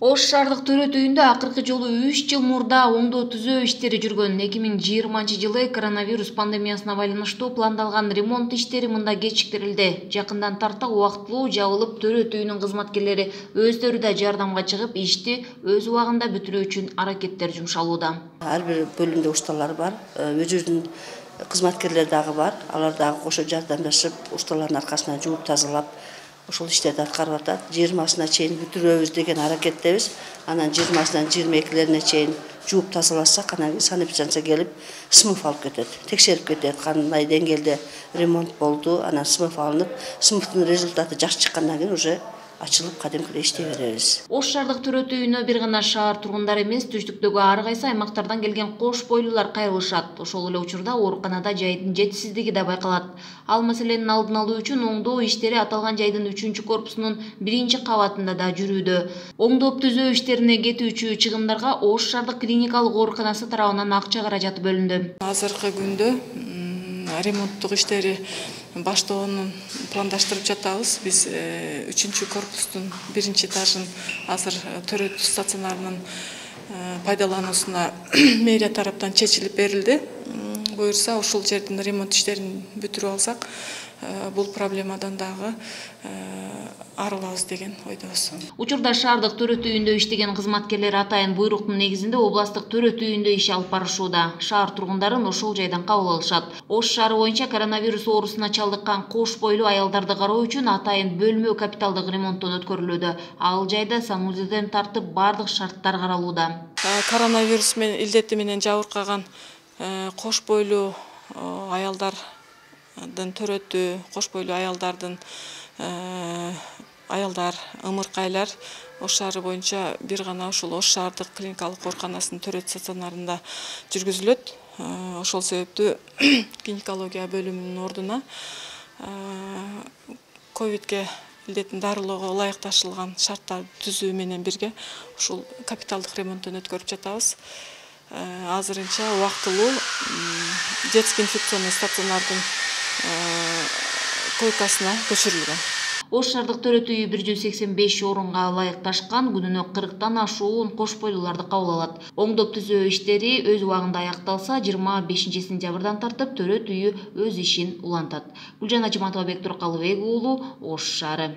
Ош шаардык төрөт үйүндө акыркы жолу 3 жыл мурда оңдоо түзөө иштери жүргөн. 2020-жылы коронавирус пандемиясына байланыштуу пландалган ремонт иштери мында кечиктирилди. Жакындан тарта убактылуу жабылып, төрөт үйүнүн кызматкерлери өздөрү да жардамга чыгып, ишти өз убагында бүтүрүү үчүн аракеттер жумшалууда. Ар бир бөлүмдө ушталар бар, өзүнүн кызматкерлери дагы бар. Алар дагы кошо жардамдашып, ушталардын аркасына жууп тазалап, ошол иштерди аткарып атат. 20-сына чейин бүтүрөбүз деген аракеттебиз. Анан 20-сынан 22-лерине чейин жууп тазаласак, анан санэпидстанция келип, смыв алып кетет. Текшерип кетет, кандай деңгээлде ремонт болду. Анан смыв алынып, смывдын результаты жакшы чыккандан кийин уже ачылып, кадимкидей иштей беребиз. Ош шаардык төрөт үйүнө бир гана шаар тургундары эмес, түштүктөгү ар кайсы аймактардан келген кош бойлуулар кайрылышат. Ошол эле учурда ооруканада жайдын жетишсиздиги да байкалат. Ал маселенин алдын алуу үчүн оңдоо иштери аталган жайдын 3-корпусунун 1-кабатында да жүрүүдө. Оңдоп түзөө иштерине кетүүчү чыгымдарга Ош шаардык клиникалык ооруканасы тарабынан акча каражаты бөлүндү. Азыркы күндө ремонттук иштери баштоонун пландаштырып жатабыз. Биз 3-корпустун 1-этажын азыр төрөт стационарынын пайдалануусуна мэрия тараптан чечилип берилди. Буюрса, ушул жердин ремонт иштерин бүтүрүп алсак, бул проблемадан дагы арылабыз деген ойдобуз. Учурда шаардык төрөт үйүндө иштеген кызматкерлер атайын буйруктун негизинде областык төрөт үйүндө иш алып барышууда. Шаар тургундарын ошол жайдан кабыл алышат. Ош шаары боюнча коронавирус оорусуна чалдыккан кош бойлуу аялдарды кароо үчүн атайын бөлмө капиталдык ремонттон өткөрүлүүдө. Ал жайда санузелден тартып бардык шарттар каралууда. Коронавирус илдети менен жабыркаган кош бойлуу аялдардын төрөтү, кош бойлуу аялдар, ымыркайлар Ош шаары боюнча бир гана ушул Ош шаардык клиникалык ооруканасынын төрөт стационарында жүргүзүлөт. Ошол себептүү гинекология бөлүмүнүн ордуна ковидке илдетин дарылоого ылайыкташылган шарттарды түзүү менен бирге ушул капиталдык ремонттон өткөрүп жатабыз. Азырынча убактылуу детский инфекционный стационардын койкасына көчүрүлгөн. Ош шаардык төрөт үйү 185 орунга ылайыкташкан, күнүнө 40тан ашуун кош бойлууларды кабыл алат. Оңдоп түзөө иштери өз убагында аякталса, 25-сентябрдан тартып төрөт үйү өз ишин улантат. Гүлжан Ажыматова, Бектур Калыбек уулу, Ош шаары.